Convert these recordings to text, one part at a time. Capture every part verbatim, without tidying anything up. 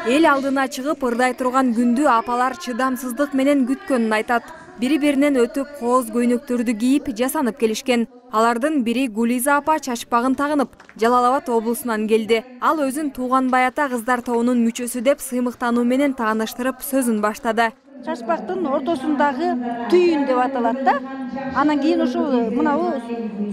Эл алдына чыгып ырдай турган күндү апалар чыдамсыздык менен күткөнүн айтат. Бири-биринен өтүп кооз көйнөктөрдү кийип жасанып келишкен. Алардын бири Гулиза апа чачпагын тагынып, Жалал Абад облусунан келди. Ал өзүн Тууганбай ата кыздар тобунун мүчөсү деп сыймыктануу менен тааныштырып сөзүн баштады. Чачпактын ортосундагы түйүн деп аталат да. Анан кийин ошол мынабу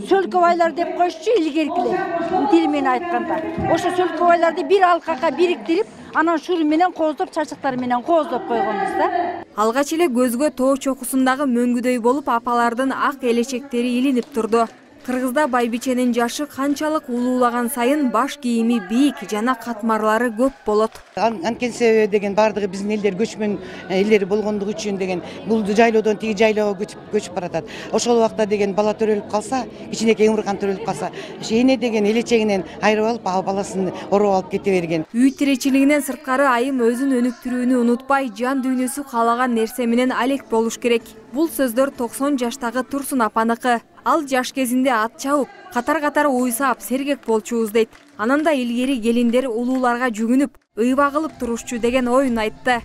сөлкөбайлар деп коюшчу илгеркилер. Тили менен айтканда. Ошо сөлкөбайларды бир алкага бириктирип, анан шур менен кооздоп, чачактар менен кооздоп койгонбуз да. Алгач эле көзгө тоо чокусундагы мөңгүдөй болуп апалардын ак элечектери илинип турду. Кыргызда байбиченин жашы канчалык улуулаган сайын баш кийими бийик жана катмарлары көп болот. Анткени себеби деген бардыгы биздин элдер көчмөн элдери болгондугу үчүн деген бул жайлоодон тиги жайлоого көчүп көчүп баратат. Ошол убакта деген бала төрөлүп калса, кичинекей умурган төрөлүп калса, эне деген элечегинен айрып алып, баласын ороп алып кете берген. Үй тиричилигинен сырткары айым өзүн өнүктүрүүнү унутпай, жан дүйнөсү каалаган нерсе менен алек болуш керек. Бул сөздөр токсон жаштагы Турсун апаныкы. Ал жаш кезинде ат чабып, катар-катар уйсап, сергек болчубуз дейт. Анан да илгери келиндер улууларга жүгүнүп, ыйба кылып турушчу деген оюн айтты.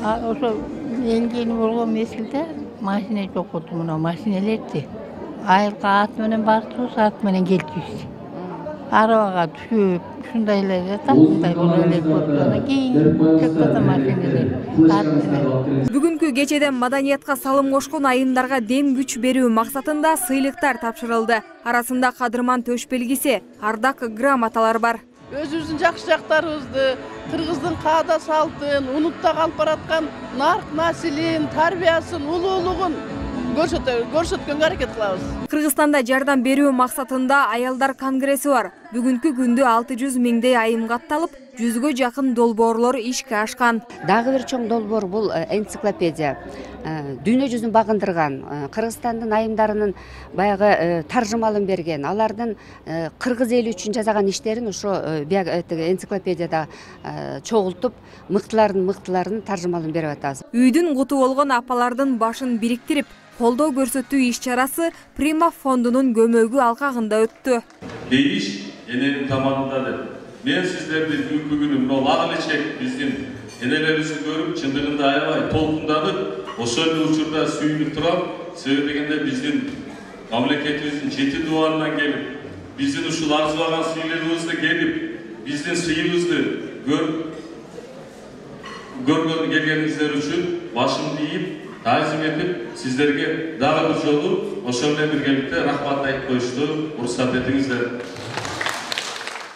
Ошо элгени болгон мезгилде машина жок болду, мына машинелерди. Айылга ат менен бардыбыз, ат менен келчүбүз. Арабага түшүп, ушундай эле таптай болуп элек болду. Анан кийин чөктөдө машинелер. Бүгүнкү кечеден маданиятка салым кошкон айымдарга дем күч берүү максатында сыйлыктар тапшырылды. Арасында кадырман төш белгиси, ардак грамоталар бар. Өзүбүздүн жакшы жактарыбызды, кыргыздын каада салтын, унутта калып бараткан нарк населин, тарбиясын, улуулугун көрсөткөнгө аракет кылабыз. Кыргызстанда жардам берүү максатында аялдар конгресси бар. Бүгүнкү күндө алты жүз миңдей айым катталып, жүзгө жакын долбоорлор ишке ашкан. Дагы бир чоң долбоор бул энциклопедия. Дүйнө жүзүн багындырган, Кыргызстандын айымдарынын баягы таржымалын берген, алардын кыргыз эли үчүн жасаган иштерин ошо энциклопедияда чогултуп, мыктылардын мыктыларын таржымалын берип атабыз. Үйдүн куту болгон апалардын башын бириктирип, колдоо көрсөтүү иш-чарасы Прима фондунун көмөгү алкагында өттү. Дейиш эненин тамагындады. Мен сиздерди бүгүнкү күнү мына ак элечек биздин энелерибизди көрүп, чындыгында аябай толкунданып, ошол учурда сүйүнүп турам. Себеби дегенде биздин мамлекетибиздин жети дубанынан келип, биздин ушул арзыбаган сыйлыгыбызды келип, биздин сыйыбызды көргөн келгениңиздер үчүн башымды ийип, таазим этип, сиздерге дагы бир жолу ошол менен биргеликте рахмат айтып коюшту уруксат этиңиздер.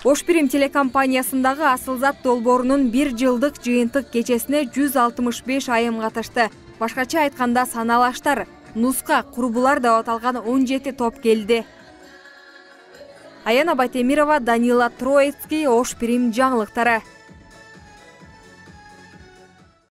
Ош Бирим телекомпаниясындагы Асылзат долбоорунун бир жылдык жыйынтык кечесине жүз алтымыш беш айым катышты. Башкача айтканда саналаштар, нуска, курбулар деп аталган он жети топ келди. Аяна Байтемирова, Данила Троицкий, Ош Бирим жаңылыктары.